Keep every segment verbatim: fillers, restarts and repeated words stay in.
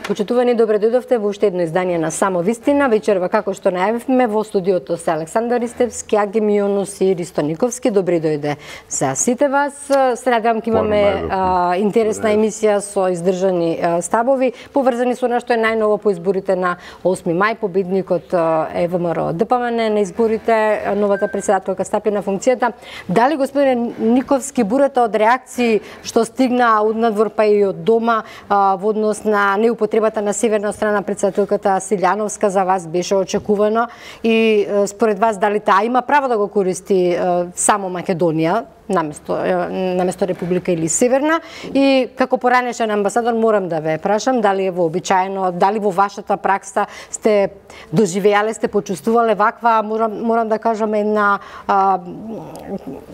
Почитувани, добре дојдовте во уште едно издание на Само вистина. Вечерва, како што најавивме, во студиото се Александар Истевски, Аги Мионос и Ристо Никовски. Добри дојде за сите вас. Се надевам ќе имаме а, интересна емисија со издржани а, ставови, поврзани со нешто е најново по изборите на осми мај. Победникот е ВМРО Д П М Н на изборите, новата председателка стапи на функцијата. Дали, господине Никовски, бурата од реакции што стигна од надвор па и од дома а, во однос на неупотребата на северна страна председателката Силјановска за вас беше очекувано и според вас дали таа има право да го користи само Македонија наместо наместо Република или Северна, и како поранешен амбасадор морам да ве прашам дали е вообичаено, дали во вашата пракса сте доживеале, сте почувствувале ваква, морам морам да кажам, една а,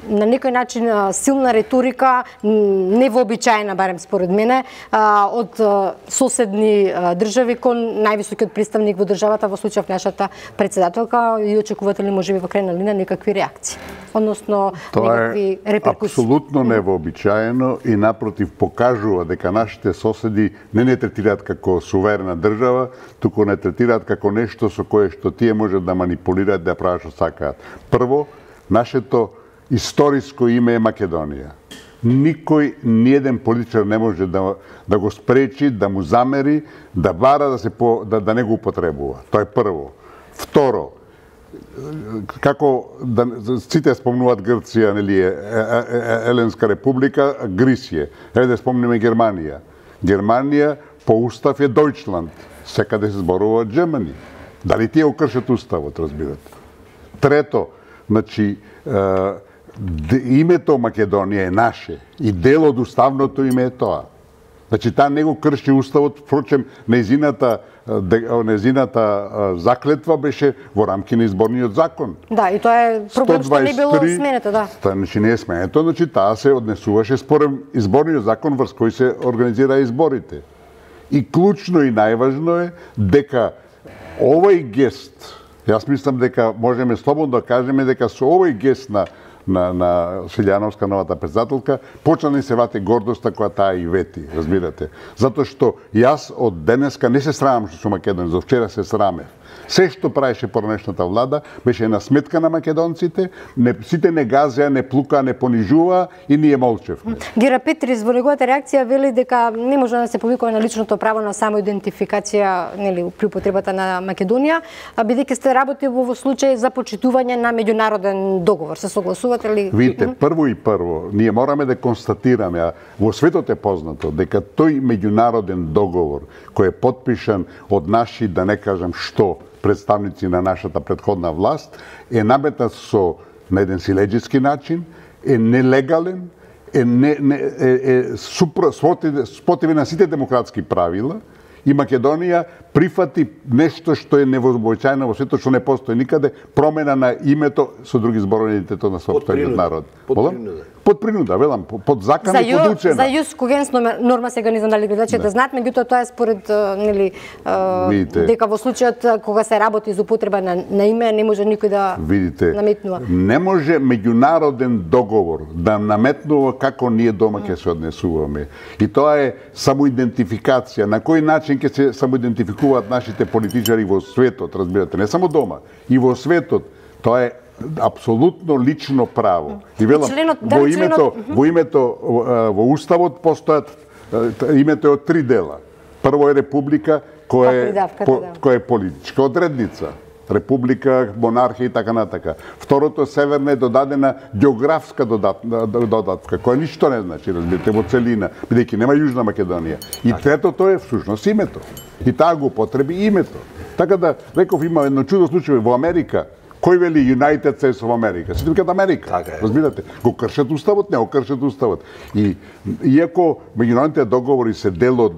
на некој начин силна риторика, невообичаена барем според мене, а, од а, соседни а, држави кон највисокиот представник во државата, во случајов нашата председателка, и очекувате ли можеби во крајна линија некакви реакции, односно некакви реперкусии? Апсолутно невообичаено и напротив покажува дека нашите соседи не не третираат како суверена држава, туку не третираат како нешто со кое што тие можат да манипулираат, да прават што сакаат. Прво, нашето историско име е Македонија. Никој, ниеден политичар не може да, да го спречи, да му замери, да бара да, се по, да, да не го употребува. Тоа е прво. Второ, како да, сите спомнуваат Грција, нели, е, е, е, Еленска република, Грисија. Еве да спомнеме Германија. Германија по устав е Дојчланд. Секаде се зборува Germany. Дали тие го кршат уставот, разбирате? Трето, значи, е, името Македонија е наше и дел од уставното име е тоа. Значи, таа не го крши уставот, впрочем, незината незината заклетва беше во рамки на изборниот закон. Да, и тоа е проблем што не било сменето, да. Тоа значи не е сменето, значи таа се однесуваше според изборниот закон врз кој се организира изборите. И клучно и најважно е дека овој гест, јас мислам дека можеме слободно да кажеме дека со овој гест на на на Силјановска, новата председателка, почна да се вати гордоста која таа и вети, разбирате. Затоа што јас од денеска не се срамам што сум Македонец, за вчера се срамев. Се што правеше поранешната влада беше на сметка на македонците, не, сите не газеа, не плука, не понижува и ние молчевме. Гера Петрис во неговата реакција вели дека не може да се повикува на личното право на самоидентификација, нели, при употребата на Македонија, а бидејќи сте работи во случај за почитување на меѓународен договор. Се согласувате ли? Видите, прво и прво, ние мораме да констатираме, а во светот е познато дека тој меѓународен договор кој е потпишан од наши, да не кажам што, представници на нашата предходна власт, е наметнат со на еден силеџиски начин, е нелегален, е, не, не, е, е супро, спротивен на сите демократски правила, и Македонија прифати нешто што е невообичаено во светот, што не постои никаде, промена на името со други зборови идентитет на сопствениот народ. Под принуда. Под принуда, велам, под закон и подучена. За јус когенс норма сега не знам дали гледачите знаат, меѓутоа тоа е според, нели, дека во случајот кога се работи за употреба на, на име не може никој да Видите, наметнува. Не може меѓународен договор да наметнува како ние дома ќе се однесуваме. И тоа е самоидентификација. На кој начин ќе се самоидентификуваат нашите политичари во светот, разбирате, не само дома, и во светот. Тоа е апсолутно лично право. И велам, во името, во името во уставот постојат, името е од три дела. Прво е република која е која е политичка одредница. Република, монархија и така натака. Второто, северна, е додадена географска додатка, која ништо не значи, разбирате, во целина, бидејќи нема Јужна Македонија. И третото е всушност името. И таа го употреби името. Така да, реков, има едно чудо случај во Америка. Кој вели United States of America? Сите викаат Америка. Така е. Разбирате? Го кршат уставот, не го кршат уставот. И иако меѓународните договори се дел од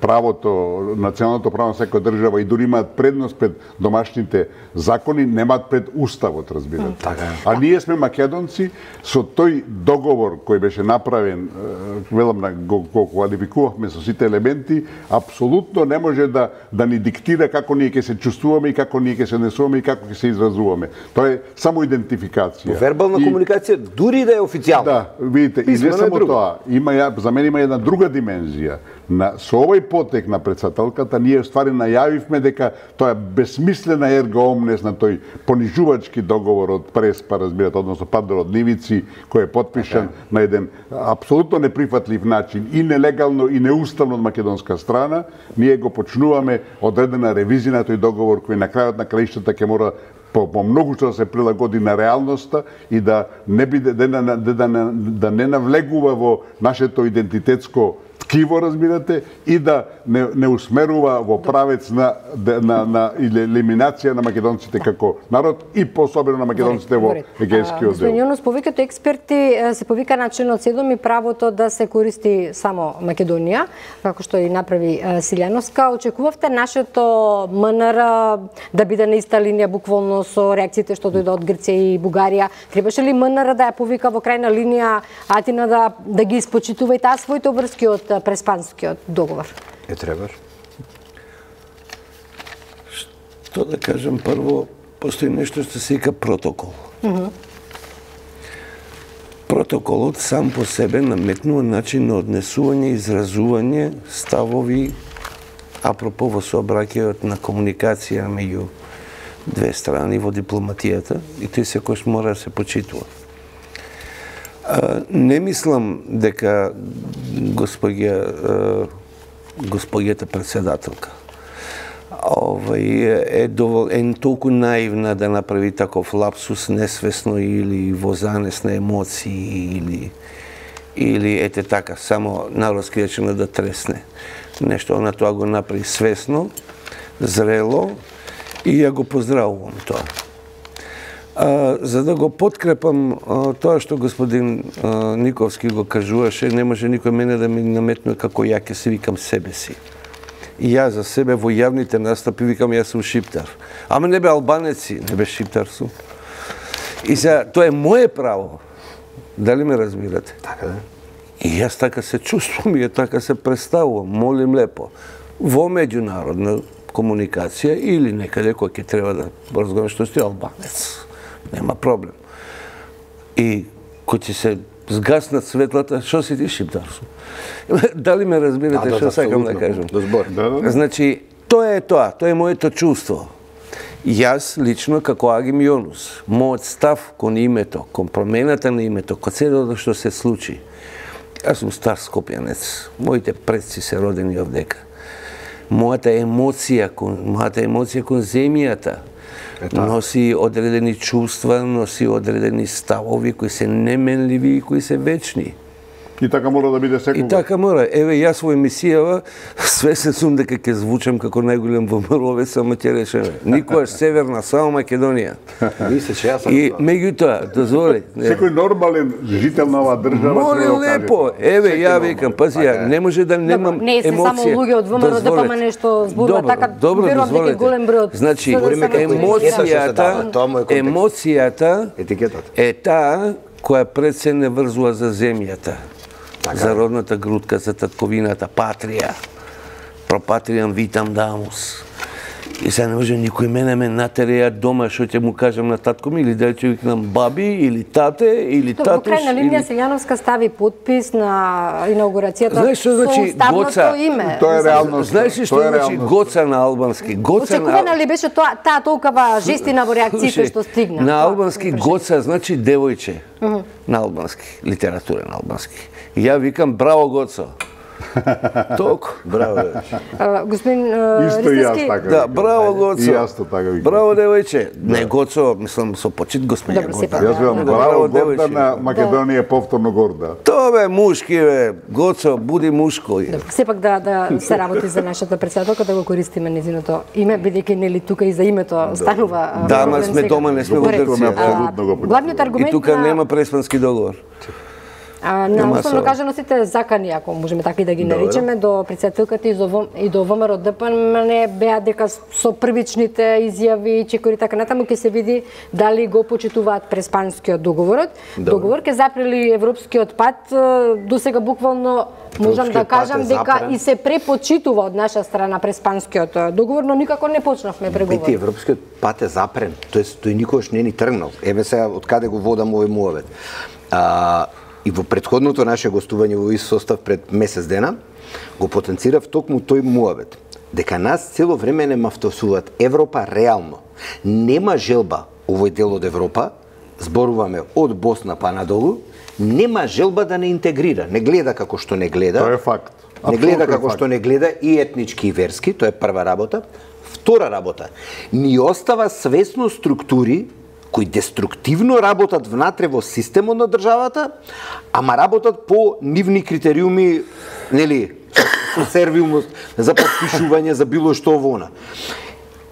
правото, националното право на секоја држава и дури имаат предност пред домашните закони, немаат пред уставот, разбирате. Така е. А ние сме македонци, со тој договор кој беше направен, велам, го, го квалификувавме со сите елементи, апсолутно не може да да ни диктира како ние ќе се чувствуваме и како ние ќе се однесуваме и како ќе се извршуваме изразуваме. Тоа е само идентификација. Вербална и... комуникација дури да е официјална. Да, видите, и не само тоа, има ја, за мене има една друга димензија. На со овој потек на председателката ние ствари најавивме дека тоа е безсмислена ерга омнес на тој понижувачки договор од Преспа, разбирате, односно Падор од Нивици, кој е потпишан okay. на еден апсолутно неприфатлив начин и нелегално и неуставно од македонска страна. Ние го почнуваме одредена ревизија на тој договор кој на крајот на краиштата ќе мора по, по многу што да се прилагоди на реалноста и да не биде да, да, да, да, да не навлегува во нашето идентитетско ткиво, разбирате, и да не, не усмерува во правец на, на, на елиминација на македонците како народ и пособено на македонците во Егејскиот дел. Господин Јунус, повеќето експерти се повика на членот седум и правото да се користи само Македонија, како што и направи Силјановска. Очекувавте нашето МНР да биде на иста линија буквално со реакциите што дојде од Грција и Бугарија? Требаше ли МНР да ја повика во крајна линија Атина да, да ги испочитува и таа своите обврски од Преспанскиот договор? Е, требаш. Што да кажам, прво, постои нешто што се вика протокол. Mm -hmm. Протоколот сам по себе наметнува начин на однесување, изразување, ставови, апропо во сообраќајот на комуникација меѓу две страни во дипломатијата, и тој секојаш мора да се почитува. Не мислам дека господја, господјата председателка овај е довол е толку наивна да направи таков лапсус несвесно или во занес на емоции или или ете така само народски речено да тресне нешто. Она тоа го направи свесно, зрело и ја го поздравувам тоа. А, за да го подкрепам а, тоа што господин а, Никовски го кажуваше, не може никој мене да ми наметнува како ја ќе се викам себе си. И ја за себе во јавните настапи викам јас сум шиптар. Ама не бе албанеци, не бе шиптар сум. И сега, тоа е моје право. Дали ме разбирате? Така да. И јас така се чувствувам и така се представувам, молим лепо. Во меѓународна комуникација или некаде кој ќе треба да разговарам што сте албанец. Нема проблем. И кој ќе се згаснат светлата, што си ти шиптар сум? Дали ме разбирате да, што да, сакам да кажам? До збор. Да, да. Значи, тоа е тоа, тоа е моето чувство. Јас лично како Агим Јонус, мојот став кон името, кон промената на името, кон седото што се случи. Јас сум стар скопјанец, моите предци се родени овдека. Мојата емоција кон мојата емоција кон земјата носи одредени чувства, носи одредени ставови кои се неменливи и кои се вечни. И така мора да биде секогаш. И така мора. Еве, јас во емисијава свесен сум дека ќе звучам како најголем вомровец, ама ќе речеме. Никогаш Северна, само Македонија. Мислиш, јас сум И тоа. меѓутоа, дозволи. Секој нормален жител на оваа држава Море треба да каже лепо. тоа. Еве, Секој ја нормален. викам, пази, ја не може да немам Не се емоција. само луѓе од ВМРО да пама нешто зборува така, верувам дека е голем број од Значи, СДСМ кои емоцијата, Тоа му е контекст. емоцијата Етикетата. е таа која пред се не врзува за земјата. Така За е. родната грудка, за татковината, патрија. Пропатријам витам дамус. И сега не може никој мене ме натереја дома што ќе му кажам на татко ми, или дали ќе викнам баби, или тате, или Во татуш. крајна линија или... Силјановска стави подпис на инаугурацијата Знаеш што значи со ставното Гоца? име. Тоа е реалност. Знаеш ли што Тоа е значи реалност. Гоца на албански? Гоца Очекувана на... ли беше тоа таа толкова жестина во реакциите Слушај, што стигна? На Тоа, албански прашање. Гоца значи девојче. На албански, литература на албански. И ја викам браво Гоцо. Толку. Браво. А, Господин а, Исто и јас Ристевски, така. Да, викам. браво Гоцо. И јас тоа така викам. Браво девојче. Не Гоцо, мислам со почит господја Добро, Гоца. сепак. Јас викам Да, браво да. горда на Македонија повторно горда. Тоа бе мушки бе. Гоцо, буди мушко. сепак да да се работи за нашата председателка, да го користиме незиното име, бидејќи нели тука и за името станува. а, Да, ама проблем сме сега. дома, не сме во Добре. Грција. А, Апсолутно го Главниот И аргумент тука на нема преспански договор. А, на основно кажано сите закани, ако можеме така и да ги наречеме, до председателката и до и до ВМРО Д П Н беа дека со првичните изјави, чекори така натаму ќе се види дали го почитуваат Преспанскиот договорот. Договор ќе запрели европскиот пат, досега буквално можам да кажам дека и се препочитува од наша страна Преспанскиот договор, но никако не почнавме преговори. Бити, европскиот пат е запрен, тоест тој никогаш не ни тргнал. Еве сега од каде го водам овој муавет. А, и во претходното наше гостување во овој состав пред месец дена го потенцирав токму тој муавет, дека нас цело време не мафтосуваат Европа реално. Нема желба овој дел од Европа, зборуваме од Босна па надолу, нема желба да не интегрира, не гледа како што не гледа. Тоа е факт. Не гледа како што не гледа и етнички и верски, тоа е прва работа. Втора работа, ни остава свесно структури кои деструктивно работат внатре во системот на државата, ама работат по нивни критериуми, нели, со сервилност за подпишување за било што вона.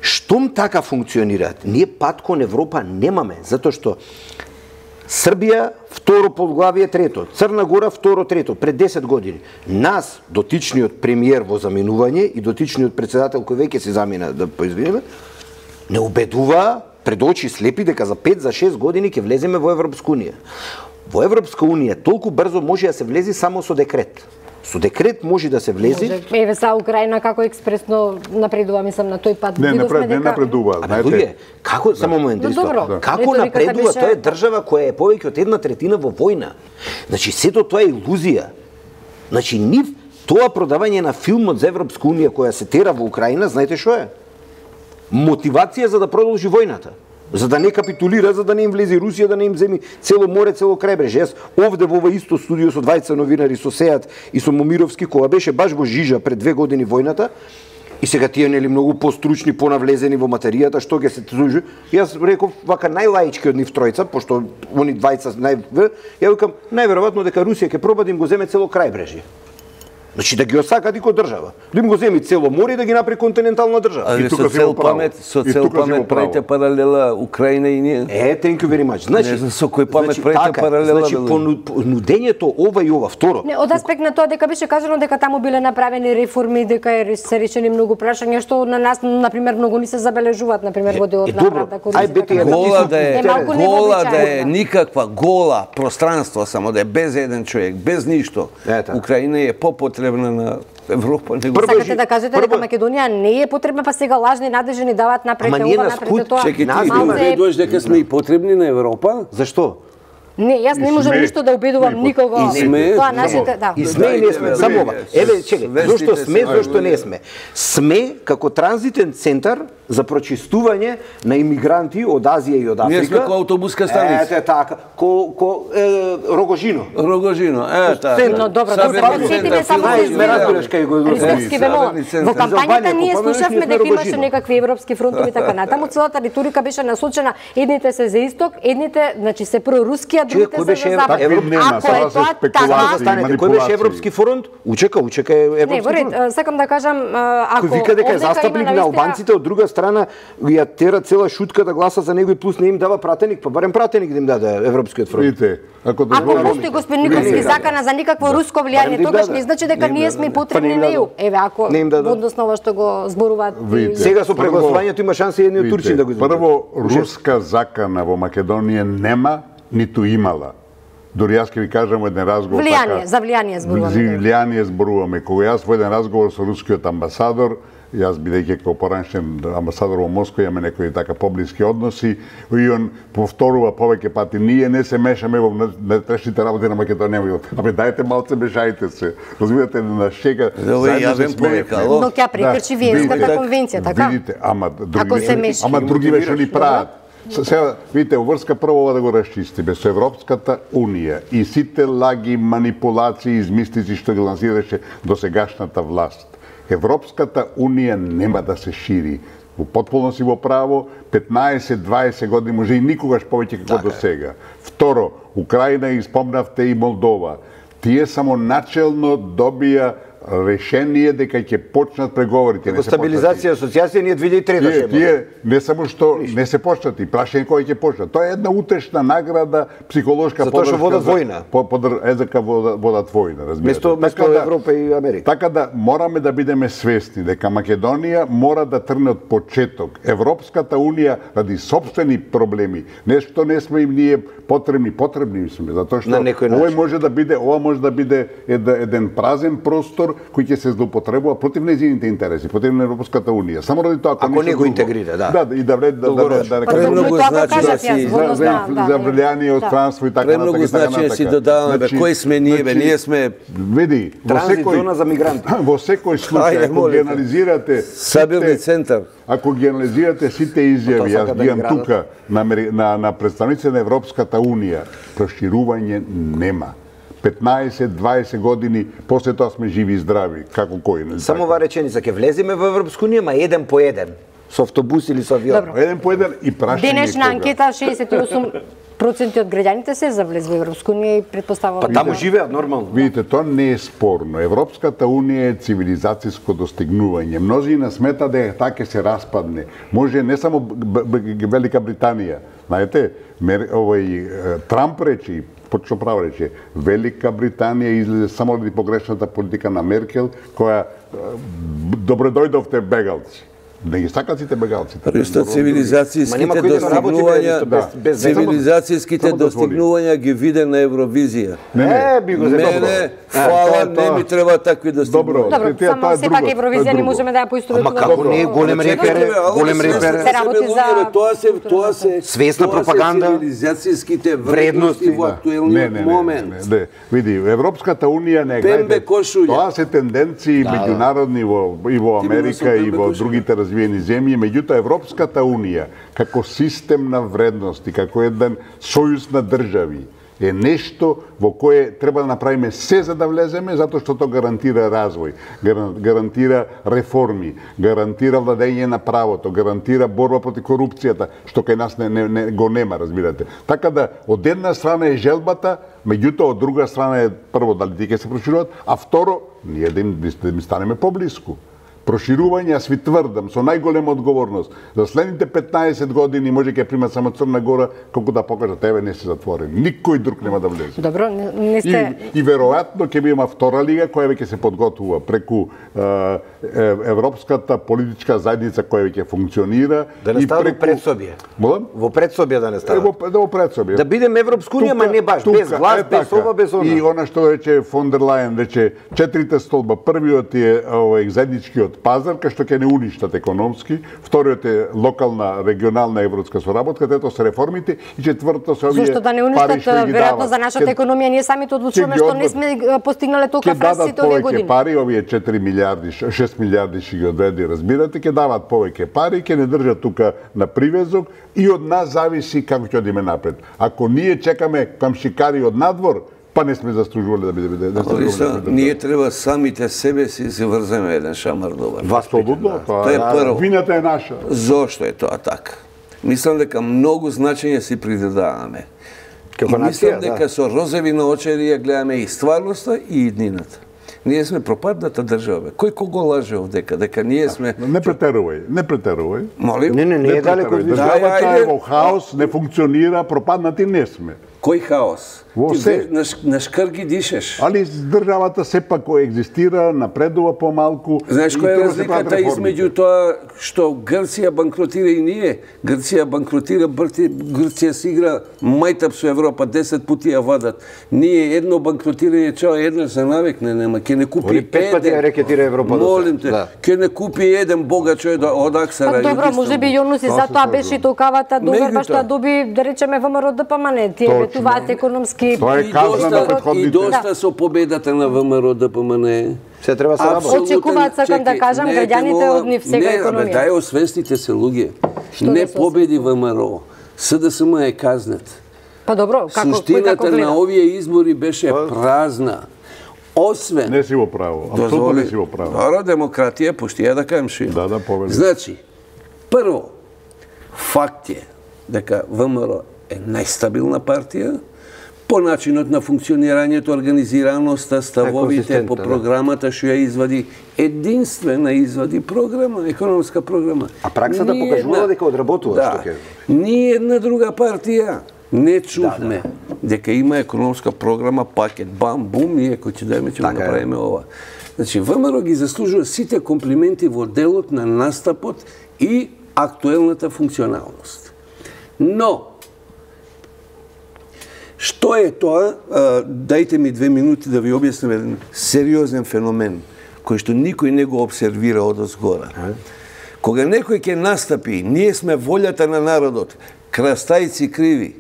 Штом така функционираат, ние пат кон Европа немаме, затоа што Србија второ подглавие трето, Црна Гора второ трето, пред десет години. Нас, дотичниот премиер во заминување и дотичниот председател кој веќе се замина, да поизвинеме, не убедува пред очи слепи дека за пет за шест години ќе влеземе во Европска унија. Во Европска унија толку брзо може да се влези само со декрет. Со декрет може да се влези. Може, еве са Украина како експресно напредува, мислам на тој пат. Не, напред, не напредува, знаете. Луѓе, како само момент исто. Да. Како напредува? Беше... Тоа е држава која е повеќе од една третина во војна. Значи сето тоа е илузија. Значи нив тоа продавање на филмот за Европска унија која се тера во Украина, знаете што е? Мотивација за да продолжи војната. За да не капитулира, за да не им влезе Русија, да не им земи цело море, цело крајбреже. Јас овде во ова исто студио со двајца новинари, со Сеат и со Момировски, кога беше баш во жижа пред две години војната, и сега тие нели многу постручни, понавлезени во материјата, што ќе се служи. Јас реков вака најлаички од нив тројца, пошто они двајца нај ја викам најверојатно дека Русија ќе проба да им го земе цело крајбреже. Значи да ги осакати ко држава. Да им го земи цело море и да ги направи континентална држава. И тука со цел памет, со цел памет правите паралела Украина и ние. Е, thank you very much. Значи, не, со кој памет значи, правите така, паралела? Значи, понудењето ова и ова, второ. Не, од аспект на тоа дека беше кажано дека таму биле направени реформи, дека е се решени многу прашања што на нас на пример многу ни се забележуваат, на пример во делот на правда корупција. Ај бете гола да е, гола да е никаква гола пространство само да е без еден човек, без ништо. Украина е попотребна на Европа. Сакате да кажете дека Македонија не е потребна, па сега лажни надежи ни даваат напред ова, напред тоа. Чекай, ти убедуваш дека сме и потребни на Европа? Зашто? Не, јас не можам ништо да убедувам никого. И сме, тоа нашите, да. И сме и не сме, само ова. Еве, чекај, зошто сме, зошто не сме? Сме како транзитен центар за прочистување на имигранти од Азија и од Африка. Ние сме ко автобуска станица. Ете така, ко ко е, Рогожино. Рогожино, е така. Но добро, да се подсетиме само за Рисковски вемола. Во кампањата ние слушавме дека имаше некакви европски фронтови и така натаму. Целата риторика беше насочена едните се за исток, едните, значи се проруски, а другите се за запад. Ако е тоа така, кој беше европски фронт? Учека, учека е европски фронт. Не, во ред, сакам да кажам, ако кој вика дека е застапник на албанците, од друга страна ја тера цела шутка да гласа за него и плюс не им дава пратеник, па барем пратеник да им даде европскиот фронт. Видите, ако Ако постои господин Николски закана за никакво руско влијание, тогаш не значи дека ние сме потребни на ЕУ. Еве ако односно ова што го зборуваат. Сега со прегласувањето има шанса и едни од турци да го изберат. Прво, руска закана во Македонија нема, ниту имала. Дори јас ќе ви кажам еден разговор влијание, за влијание зборуваме. За влијание зборуваме. Кога јас во еден разговор со рускиот амбасадор, јас бидејќи како поранешен амбасадор во Москва имаме некои така поблиски односи, и он повторува повеќе пати, ние не се мешаме во внатрешните работи на Македонија. Абе дајте малце мешајте се. Разбирате на шега. Заедно се смееме. Но ќе прекрши Виенската конвенција, така? Видите, ама други ама други беше ни прават. Сега, видите, врска прво ова да го расчистиме со Европската Унија и сите лаги, манипулации, измислици што ги лансираше досегашната власт. Европската Унија нема да се шири. Во потполно си во право, петнаесет дваесет години може и никогаш повеќе како до сега. Второ, Украина и спомнавте и Молдова. Тие само начелно добија решение дека ќе почнат преговорите. Како стабилизација и асоциација ние две илјади и трета Тие, тие не само што не се почнати, прашање кој ќе почнат. Тоа е една утешна награда, психолошка Затоа што подршка. водат војна. По, подр, езека водат, водат војна, разбирате. Место, место да, Европа и Америка. Така да мораме да бидеме свесни дека Македонија мора да трне од почеток. Европската унија ради сопствени проблеми, нешто не сме им ние потребни, потребни сме, затоа што овој може да биде, ова може да биде еден празен простор кој ќе се злоупотребува против нејзините интереси, против на Европската унија. Само ради тоа ако не го интегрира, да. Да, и да влезе да да да премногу значи да си за влијание од странство и така натаму. Премногу значи да си додаваме бе кои сме ние бе, ние сме види, во секој зона за мигранти. Во секој случај ако ги анализирате сабилни центар, ако ги анализирате сите изјави, јас ги имам тука на на на представници на Европската унија, проширување нема. петнаесет дваесет години после тоа сме живи и здрави, како кој. Само ова реченица, ќе влеземе во Европска унија, ма еден по еден, со автобус или со авион. Добро. Еден по еден и прашање. Денешна анкета шеесет и осум проценти од граѓаните се за влез во Европска унија и претпоставувам. Па таму живеат нормално. Видите, тоа не е спорно. Европската унија е цивилизацијско достигнување. Мнозина смета дека така се распадне. Може не само Велика Британија. Знаете, овој Трамп речи, почно право рече, Велика Британија излезе само ради погрешната политика на Меркел, која добро дојдовте бегалци. Да ги сакат сите бегалците. Присто цивилизацијските достигнувања, цивилизацијските достигнувања ги виде на Евровизија. Не, би го Не, не, фала, не ми треба такви достигнувања. Добро, само сепак Евровизија не можеме да ја поистоветуваме. Ама како не, голем репер, голем репер. Се работи за тоа се тоа се свесна пропаганда, цивилизацијските вредности во актуелниот момент. Не, види, Европската унија не гледа. Тоа се тенденции меѓународни во и во Америка и во другите развиени земји, меѓутоа Европската унија како систем на вредности, како еден сојуз на држави е нешто во кое треба да направиме се за да влеземе, затоа што тоа гарантира развој, гарантира реформи, гарантира владење на правото, гарантира борба против корупцијата, што кај нас не, не, не го нема, разбирате. Така да, од една страна е желбата, меѓутоа од друга страна е прво дали тие ќе се прошируваат, а второ, ние да им, да им станеме поблиску. Проширување, аз ви тврдам, со најголема одговорност, за следните петнаесет години може ќе примат само Црна Гора, колку да покажат, еве не се затворени. Никој друг нема да влезе. Добро, не сте... И, и веројатно ќе има втора лига, која веќе се подготвува преку е, Европската политичка заедница која веќе функционира. Да не става преку... во предсобие. Молам? Во предсобие да не става. Во, да во предсобие. Да бидеме Европска унија, ма не баш, тука, без глас, е, без ова, без она. И она што рече фон дер Лајен, рече четирите столба. Првиот е овој заедничкиот пазар, кај што ќе не уништат економски, вториот е локална, регионална европска соработка, трето се реформите и четврто се овие Зошто да не уништат веројатно за нашата економија, ние самите одлучуваме што не сме постигнале толку раст сите овие години. Ќе дадат повеќе пари, овие четири милиарди, шест милиарди ќе ги одведе, разбирате, ќе дават повеќе пари, ќе не држат тука на привезок и од нас зависи како ќе одиме напред. Ако ние чекаме камшикари од надвор, па не сме заслужувале да биде да биде. Ние треба самите себе си заврземе еден шамар добар. Вас слободно, тоа е прво. Вината е наша. Зошто е тоа така? Мислам дека многу значење си придадаваме. Мислам дека со розови наочари ја гледаме и стварноста и иднината. Ние сме пропадната држава. Кој кого лаже овдека? Дека ние сме... Не претерувај, не претерувај. Молим? Не, не, не е далеко од државата е во хаос, не функционира, пропаднати не сме. Кој хаос? Во се. На, на шкрги дишеш. Али државата сепак кој екзистира, напредува помалку. Знаеш која е разликата измеѓу тоа што Грција банкротира и ние? Грција банкротира, Грција си игра мајтап со Европа, десет пати ја вадат. Ние едно банкротирање чао едно се навикне, нема, ќе не купи еден. Пет пати ја рекетира Европа. Молим те, ќе не купи еден бога човек од Аксара. Добро, можеби Јонус и затоа беше толкавата добар, па што доби, да речеме, ВМРО ДПМН, тие ветуваат економски. Тоа е казна на претходните. И доста со победата на ВМРО ДПМН. Се треба се работи. Очекуваат, сакам да кажам, граѓаните од нив сега економија. Не, дај освестите се луѓе. Не победи ВМРО. СДСМ е казнет. Па добро, како суштината на овие избори беше празна. Освен... Не си во право. Апсолутно не си во право. Добро, демократија, пушти ја да кажам ши. Да, да, повели. Значи, прво, факт е дека ВМРО е најстабилна партија, по начинот на функционирањето, организираноста, ставовите по програмата што ја извади, единствена извади програма, економска програма. А праксата покажува дека одработува да, што ќе. Ни една друга партија не чувме да, да. дека има економска програма, пакет, бам, бум, ние кој ќе дајме ќе го направиме ова. Значи, ВМРО ги заслужува сите комплименти во делот на настапот и актуелната функционалност. Но, што е тоа? Дајте ми две минути да ви објаснам еден сериозен феномен, кој што никој не го обсервира одозгора. Кога некој ќе настапи, ние сме волјата на народот, крастајци криви.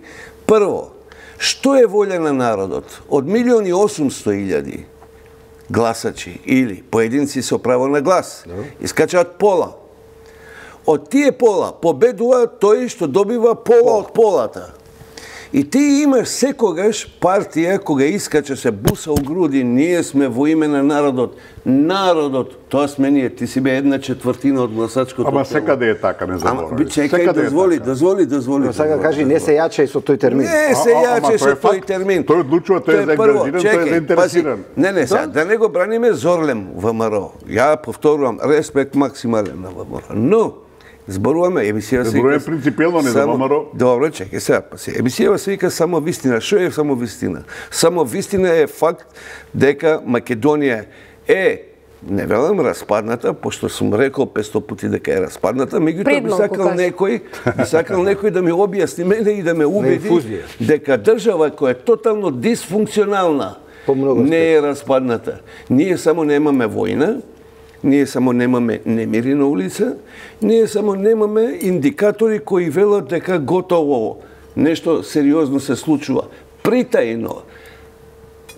Прво, што е волја на народот? Од милиони осумсто илјади гласачи или поединци со право на глас, искачаат пола. Од тие пола победува тој што добива пола од полата. И ти имаш секогаш партија кога искача се буса у груди, ние сме во име на народот. Народот, тоа сме ние, ти си бе една четвртина од гласачкото. Ама секаде е така, не заборави. Чекај, дозволи, дозволи, дозволи. Но сега кажи, не се јачај со тој термин. Не се јачај со тој термин. Тој одлучува, тој е заангажиран, тој е заинтересиран. Не, не, сега, да не го браниме зорлем ВМРО. Ја повторувам, респект максимален на ВМРО. Но, зборуваме, емисија се вика... принципиелно не за ВМРО. Добро, чекай сега, паси. Емисија се вика само вистина. Што е само вистина? Само вистина е факт дека Македонија е, не велам распадната, пошто сум рекол петсто пати дека е распадната, меѓутоа би сакал некој, би сакал некој да ми објасни мене и да ме убеди дека држава која е тотално дисфункционална не е распадната. Ние само немаме војна, ние само немаме немири на улица, ние само немаме индикатори кои велат дека готово нешто сериозно се случува. Притајно,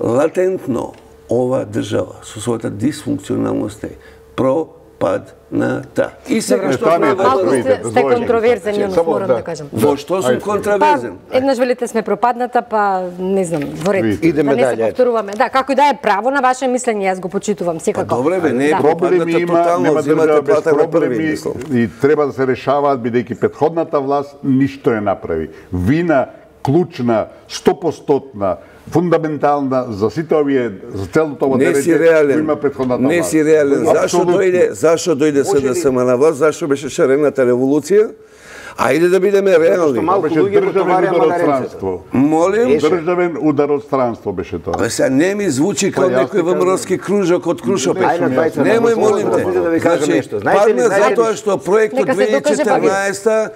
латентно, ова држава со својата дисфункционалност е пропадната. И сега што малку сте, сте контроверзен, Јонов, морам да кажам. Во што сум контроверзен? Па, еднаш велите сме пропадната, па не знам, во ред. Идеме да не се дале. повторуваме. Да, како и да е право на ваше мислење, јас го почитувам секако. Па добре бе, не е да. Проблеми пропадната има, тотално, нема взимате држава без плата на проблеми први. и треба да се решаваат, бидејќи претходната власт ништо не направи. Вина клучна, стопостотна, фундаментална за сите овие, за целото ова дерење, има претходната власт. Не си реален. Зашо дојде, зашо дојде СДСМ на власт, зашо беше шарената револуција? Ајде да бидеме реални. Беше државен удар од странство. Молим? Државен удар од странство беше тоа. Абе сега не ми звучи као некој ВМРО-ски кружок од Крушопец. Немој, молим те. Значи, падна затоа што проектот две илјади и четрнаесета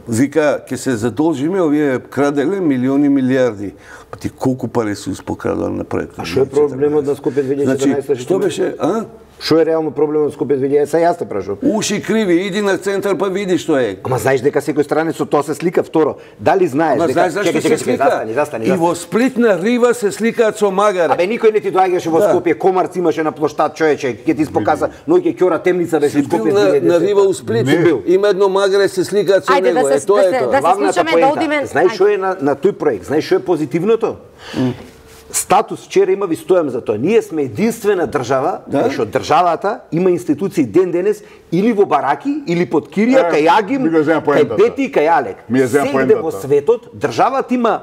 вика, ќе се задолжиме, овие краделе милиони милиарди. Па ти колку пари се испокрадува на проектот? А што е проблемот на Скопје две илјади и четрнаесета? Значи, што беше, а? Што е реално проблемот со Скопје две илјади и седумнаесета? Јас те прашувам. Уши криви, иди на центар па види што е. Ама знаеш дека секој странец со тоа се слика. Второ, дали знаеш Ама дека знаеш зашто се слика? Застани, застани, и во Сплит на Рива се сликаат со магаре. Абе никој не ти доаѓаше во Скопје, Комарц имаше на плоштад, човече, ќе ти споказа, ноќе ќора темница беше Скопје две илјади и десета. На Рива у Сплит има едно магаре се сликаат со него, е тоа е тоа. Да се слушаме, да одиме. Знаеш што е на на тој проект? Знаеш што е позитивното? Статус вчера има, ви стојам за тоа. Ние сме единствена држава, да? Што државата има институции ден денес или во бараки, или под кирија, кај Агим, кај Бети, кај Алек. Сегде во светот државата има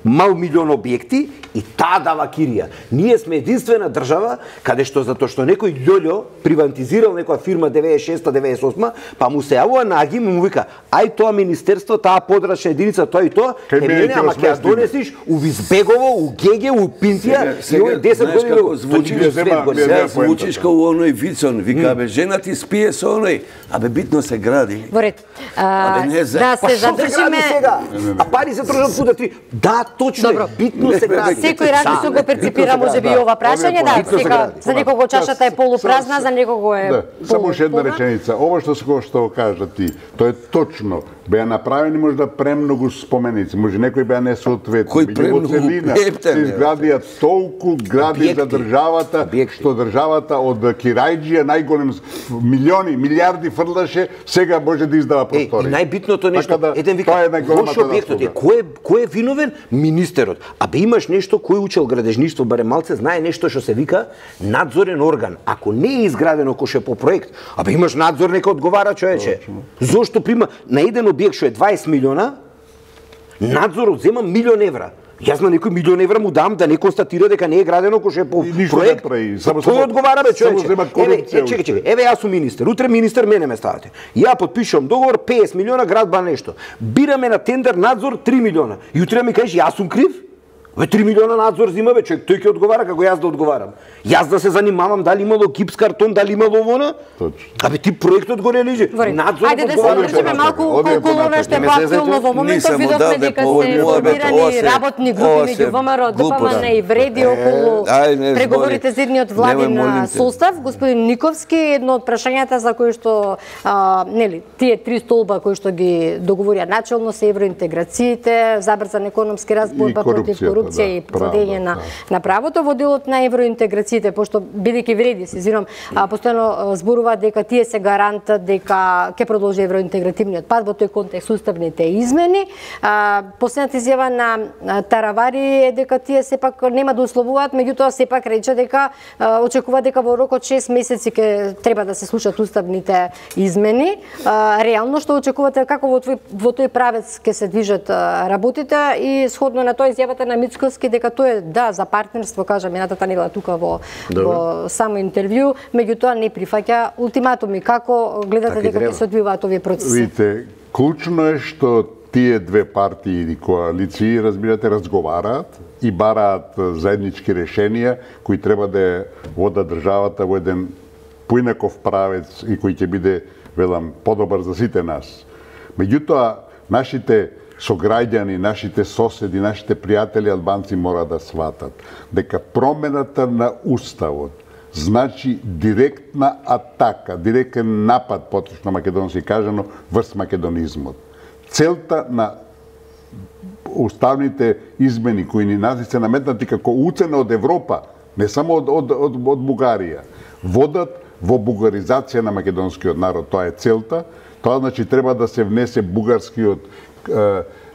мал милион објекти и таа дава кирија. Ние сме единствена држава каде што затоа што некој љољо приватизирал некоја фирма деветдесет и шеста деветдесет и осма, па му се јавува на Агим и му вика: "Ај тоа министерство, таа подрачна единица, тоа и тоа, Кај е мене, ама ќе ја донесиш у Визбегово, у Геге, у Пинтија и овој десет години како звучиш, сега звучиш како оној Вицон, вика: "Бе, жена ти спие со оној, абе битно се гради." Во ред. Да се задржиме сега. А пари се трошат пуда три. Да, точно. Добро. Битно се гради. Секој различно го перципира можеби и ова прашање, да, сека за некого чашата е полупразна, за некого е полупразна. Само уште една реченица. Ова што се што кажа ти, тоа е точно. Беа направени можда премногу споменици, може некои беа несоодветни. Кој премногу се изградија толку гради за државата, што државата од Кирајџија најголем милиони, милиарди фрлаше, сега може да издава простори. И најбитното нешто, еден вика, лош објектот е, кој кој е виновен? Министерот. Абе имаш нешто, кој учел градежништво, барем малце, знае нешто што се вика надзорен орган. Ако не е изградено кој ше по проект, абе имаш надзор, нека одговара човече. Зошто прима на еден објект што е дваесет милиона, надзорот зема милион евра. Јас на некој милион евра му дам да не констатира дека не е градено кој е по проект. Само тој одговара бе човече. Еве, чекај, чекај. Еве јас сум министер. Утре министер мене ме ставате. Ја потпишувам договор песет милиона градба нешто. Бираме на тендер надзор три милиона. И утре ми кажеш јас сум крив? Ве три милиона надзор зима бе човек, тој ќе одговара како јас да одговарам. Јас да се занимавам дали имало гипс картон, дали имало вона? Точно. Абе ти проектот горе лежи. Надзор Ајде да се одржиме малку околу она што е поактуелно во моментот, видовме дека се формирани работни групи меѓу ВМРО, ДПМН и Вреди околу преговорите за едниот владин состав. Господин Никовски, едно од прашањата за кои што нели тие три столба кои што ги договорија начелно се евроинтеграциите, забрзан економски раст, борба против корупција и владење на на правото во делот на евроинтеграциите, пошто бидејќи Вреди се зирам постојано зборува дека тие се гарант дека ќе продолжи евроинтегративниот пат во тој контекст уставните измени. Последната изјава на Таравари е дека тие сепак нема да условуваат, меѓутоа сепак рече дека очекува дека во рок од шест месеци ќе треба да се слушаат уставните измени. Реално што очекувате, како во тој во тој правец ќе се движат работите и сходно на тоа изјавата на Мицкоски дека тоа е да за партнерство, кажа минатата недела тука во во само интервју, меѓутоа не прифаќа ултиматуми. Како гледате дека ќе се одвиваат овие процеси? Видите, клучно е што тие две партии или коалиции, разбирате, разговараат и бараат заеднички решенија кои треба да водат државата во еден поинаков правец и кој ќе биде, велам, подобар за сите нас. Меѓутоа, нашите сограѓани, нашите соседи, нашите пријатели албанци мора да сватат дека промената на уставот значи директна атака, директен напад, поточно македонски кажано, врз македонизмот. Целта на уставните измени кои ни нас се наметнати како уцена од Европа, не само од, од, од, од Бугарија, водат во бугаризација на македонскиот народ. Тоа е целта. Тоа значи треба да се внесе бугарскиот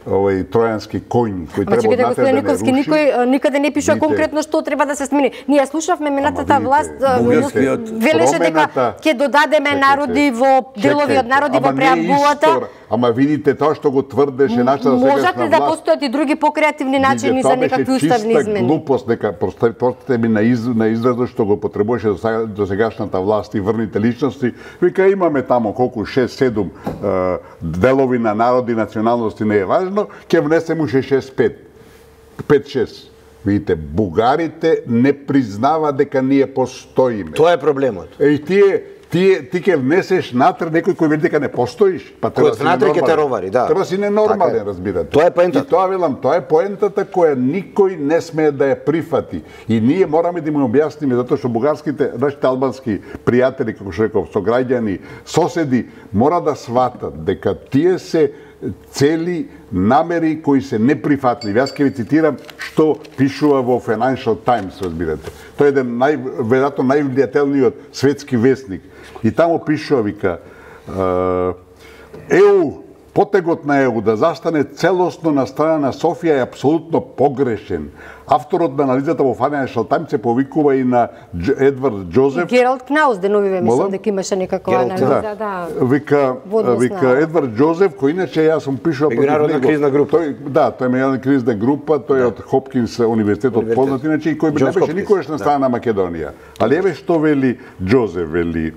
овој тројански коњ кој треба однатре да не Никовски, руши. никој никаде не пишува конкретно што треба да се смени. Ние слушавме минатата власт велеше дека ќе додадеме народи во делови од народи во преамбулата. Ама видите тоа што го тврдеше нашата сегашна власт. Можат ли да постојат и други покреативни начини за некакви уставни измени? Тоа беше чиста глупост, дека простите ми на из на изразот што го потребуваше до сегашната власт и врните личности. Вика имаме тамо колку шест седум делови на народи, националности, не е важно, ќе внесеме уште шест пет. пет шест. Видите, бугарите не признава дека ние постоиме. Тоа е проблемот. Е, тие Ти, ти ќе внесеш натре некој кој вели дека не постоиш, па треба да си натре ќе те ровари, да. Треба си ненормален, разбирате. Тоа е поентата. И тоа велам, тоа е поентата која никој не смее да ја прифати. И ние мораме да им објасниме затоа што бугарските, нашите албански пријатели, како што реков, сограѓани, соседи, мора да сватат дека тие се цели намери кои се неприфатливи. Јас ќе ви цитирам што пишува во Financial Times, разбирате. Тој е еден нај, веројатно највлијателниот светски весник. И таму пишува, вика, ЕУ, потегот на ЕУ да застане целосно на страна на Софија е апсолутно погрешен. Авторот на анализата во Financial Times се повикува и на Едвард Джозеф. И Гералд Кнаус деновиве мислам дека имаше некаква анализа, да. Вика, вика Едвард Джозеф, кој иначе јас сум пишувал против него. Меѓународна кризна група. Тој, да, тој е меѓународна кризна група, тој е од Хопкинс универзитетот познат иначе и кој не беше никогаш на страна на Македонија. Али еве што вели Джозеф, вели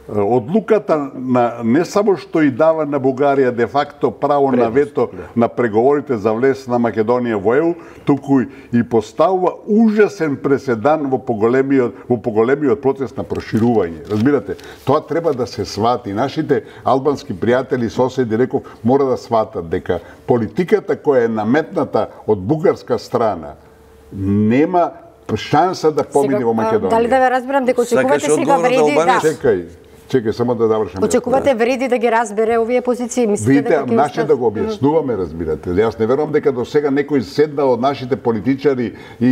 одлуката на не само што и дава на Бугарија де факто право на вето на преговорите за влез на Македонија во ЕУ, туку и поставува ужасен преседан во поголемиот во поголемиот процес на проширување. Разбирате, тоа треба да се свати. Нашите албански пријатели, соседи, реков, мора да сватат дека политиката која е наметната од бугарска страна нема шанса да помине во Македонија. Дали да ве разберам дека очекувате сега Вреди да Чекај. Чекај, само да завршам. Очекувате Вреди да ги разбере овие позиции, мислите дека ќе наше да го објаснуваме, разбирате. Јас не верувам дека до сега некој седнал од нашите политичари и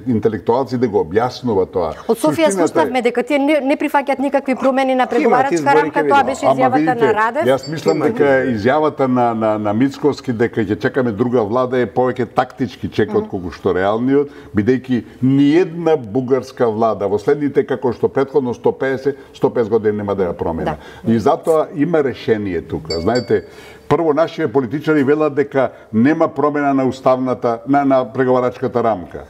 интелектуалци да го објаснува тоа. Од Софија слушнавме дека тие не, не прифаќаат никакви промени на преговарачка рамка, тоа беше изјавата на Радев. Јас мислам дека изјавата на на на Мицковски дека ќе чекаме друга влада е повеќе тактички чек отколку што реалниот, бидејќи ниедна бугарска влада во следните како што претходно сто песет сто песет години нема да ја промена. Да. И затоа има решение тука. Знаете, Прво, нашите политичари велат дека нема промена на уставната, на, на преговарачката рамка.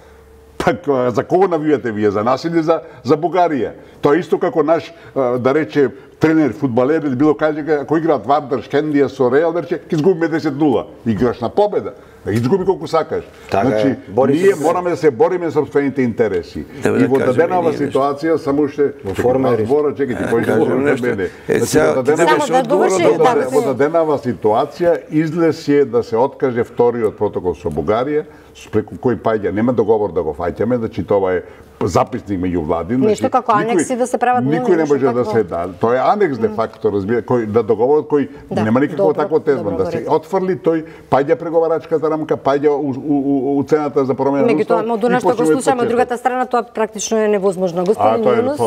Пак, за кого навивате вие? За нас или за, за Бугарија? Тоа исто како наш, да рече, тренер, фудбалер или било кај, ако играат Вардар, Шкендија со Реал, да рече, ќе изгубиме десет нула. Играш на победа. Да изгуби колку сакаш. Така значи, е. ние мораме да се бориме за собствените интереси. Да, и во да даденава ситуација, само ше... Во форма збора, чекай, ти кој збора за мене. Само да доврши, Во даденава ситуација, излез е да се откаже вториот протокол со Бугарија, преку кој паѓа, нема договор да го фаќаме, значи тоа е записник меѓу влади. Нешто како анекси да се прават. Никој не може да се да. Тоа е анекс де факто, разбира, кој да договорот кој нема никакво такво тезман да се отфрли, тој паѓа преговарачката рамка, паѓа у, у, у, у цената за промена на устав. Меѓутоа, од она што го слушаме од другата страна, тоа практично е невозможно. Господин Јунус,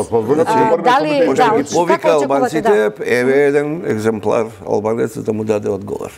дали повика албанците, еве еден екземплар албанец да му даде одговор.